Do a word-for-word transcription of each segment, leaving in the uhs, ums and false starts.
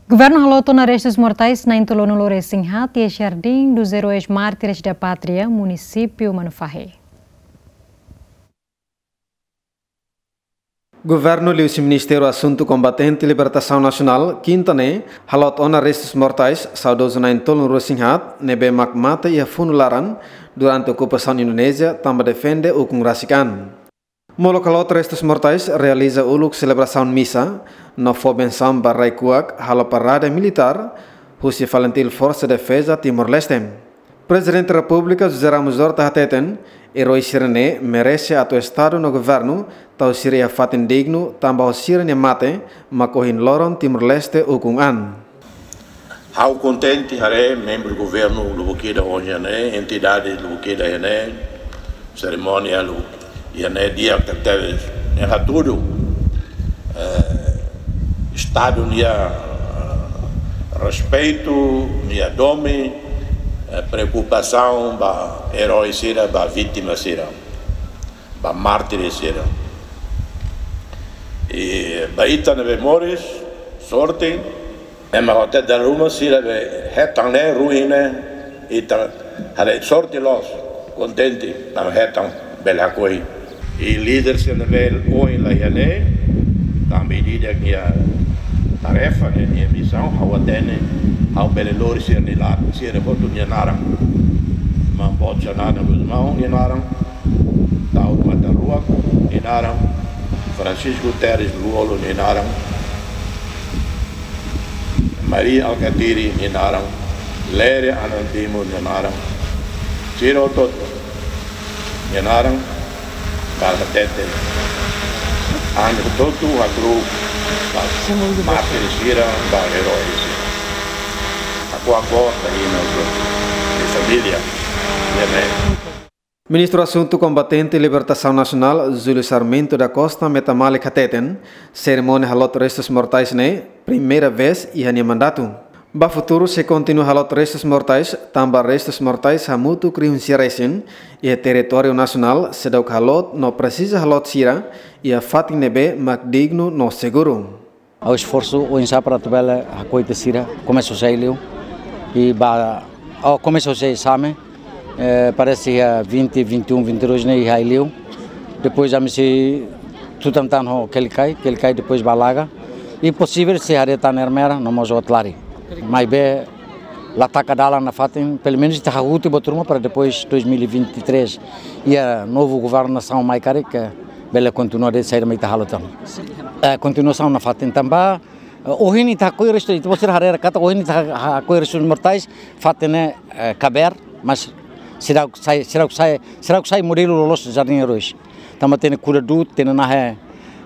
Governu haloot ona restus mortais na'in-tolunulu-resin-haat iha Jardim dos Heróis Mártires da Pátria, munisípiu Manufahi. Governu liuhusi Ministériu Asuntu Kombatente Libertasaun Nasionál, kinta ne'e, haloot ona restus mortais saudozu na'in-tolunulu-resin-haat ne'ebé mak mate iha funu laran durante okupasaun Indonézia tanba defende ukun rasik an. Molok haloot restus mortais realiza uluk selebrasaun misa no fó bensaun ba rai-kuak, halo parade militár husi FALINTIL, Forsa Defeza Timor-Leste. Prezidente Repúblika José Ramos Horta hateten, eroi sira-ne'e merese atu Estadu no governu tau sira iha fatin dignu tanba ho sira-nia mate mak ohin loron Timor-Leste ukun an. Ha'u kontente haree membru governu lubuk ida ohin ne'e, entidade lubuk ida ne'e, serimónia lubuk ida ne'e di'ak tebes. Ne'e hatudu, eh, Estadu nia, eh, respeitu, nia domin, eh, preokupasaun ba eroi sira, ba vítima sira, ba mártir sira. I ba ita ne'ebé moris, sorte, ema hotu dala ruma sira be hetan ne'e ruin ne'e, ita haree sorte loos, kontente, tanba hetan bele hakoi. I líder sira ne'ebé ohin la iha ne'e, tanba ida-idak nia tarefa ne'e, nia misaun, ha'u hatene, ha'u bele lori sira-nia la, sira hotu nia naran. Maun Boot Xanana Gusmão nia naran, Taur Matan Ruak nia naran, Francisco Guterres Lú-Olo nia naran, Mari Alkatiri nia naran, Lere Anantimo nia naran, sira hotu nia naran, ba hatete ami hotu hakru'uk ba mártir sira, ba eroi sira. Hakuak boot ba imi hotu, família, nia mãe. Ministru Asuntu Kombatente Libertasaun Nasionál, Júlio Sarmento da Costa Metamalik hateten, serimónia haloot restus mortais ne'e primeira vez iha nia mandatu. Ba futuru sei kontinua haloot restus mortais, tanba restus mortais hamutuk rihun sia resin iha territóriu nasionál seidauk haloot no presiza haloot sira iha fatin ne'ebé mak dignu no seguru. Ha'u esforsu oinsá para atu bele hakoi ita sira, komesa husi ai-liu. I ba, oh, komesa husi Same, eh, parese iha vinte, vinte e um, vinte e dois ne'e iha ai-liu. Depois ami sei tutan tan ho Kelikai, Kelikai depois ba Laga. I posivel sei haree tan Ermera, no mós Otlari. Maibé la taka dalan nafatin, pelumenus ita hahú tiha buat ruma para depois dois mil e vinte e três iha novu governasaun mai karik, eh, bele kontinua de'it saida mak ita halo tan. Eh, kontinuasaun nafatin tanba, eh, ohin ita hakoi restu, ita-boot sira haree katak ohin ita ha-, hakoi restus mortais, fatin ne'e, eh, kabeer, mas seidauk sai, seidauk sai, seidauk sai modelu loloos Jardim Heróis. Tanba hatene kuda du'ut, hatene nahe,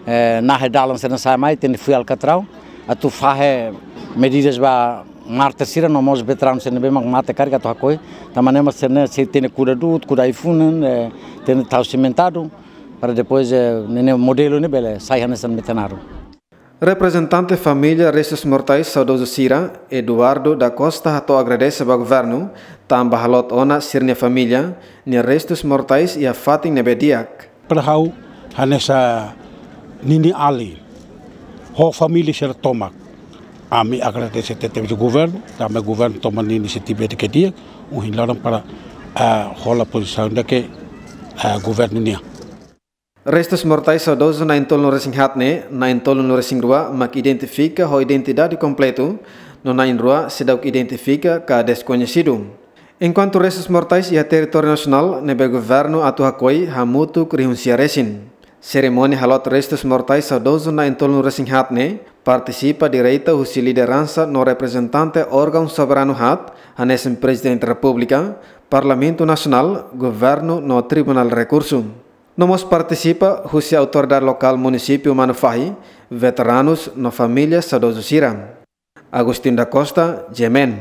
eh, nahe dalan sira-ne'e sai mai, hatene fuil alkatraun, atu fahe medidas ba mártir sira no mós veteranu sira ne'ebé mak mate karik atu hakoi, tanba ne'e mak sira-ne'e sei hatene kuda du'ut, kuda ai-funan, eh, hatene tau simentadu, para depois, eh, ne'e, ne'e modelu ne'e bele sai hanesan metanaro. Reprezentante família restus mortais saudozu sira, Eduardo da Costa, hato'o agradese ba governu, tanba haloot ona sira-nia família nia restus mortais iha fatin ne'ebé di'ak. Para ha'u hanesan ninia alin, ho família sira tomak, ami agradese tebes ba governu, tanba governu toma nia inisiativa ida ke di'ak, ohin loron para, ah, hola pozisaun ida ke, ah, governu nian. Restus mortais saudozu na'in-tolunulu-resin-haat ne'e, na'in-tolunulu-resin-rua mak identifika ho identidade kompletu, no na'in-rua seidauk identifika ka deskoñesidu. Enkuantu restus mortais iha territóriu nasionál ne'ebé governu atu hakoi hamutuk rihun sia resin. Serimónia haloot restus mortais saudozu na'in-tolunulu-resin-haat ne'e partisipa direta husi lideransa no reprezentante órgaun soberanu haat, hanesan Prezidente Repúblika, Parlamentu Nasionál, Governu no Tribunál Rekursu. No mós partisipa husi autoridade lokál munisípiu Manufahi, veteranus no família saudozu sira. Agostinho da Costa, G M N.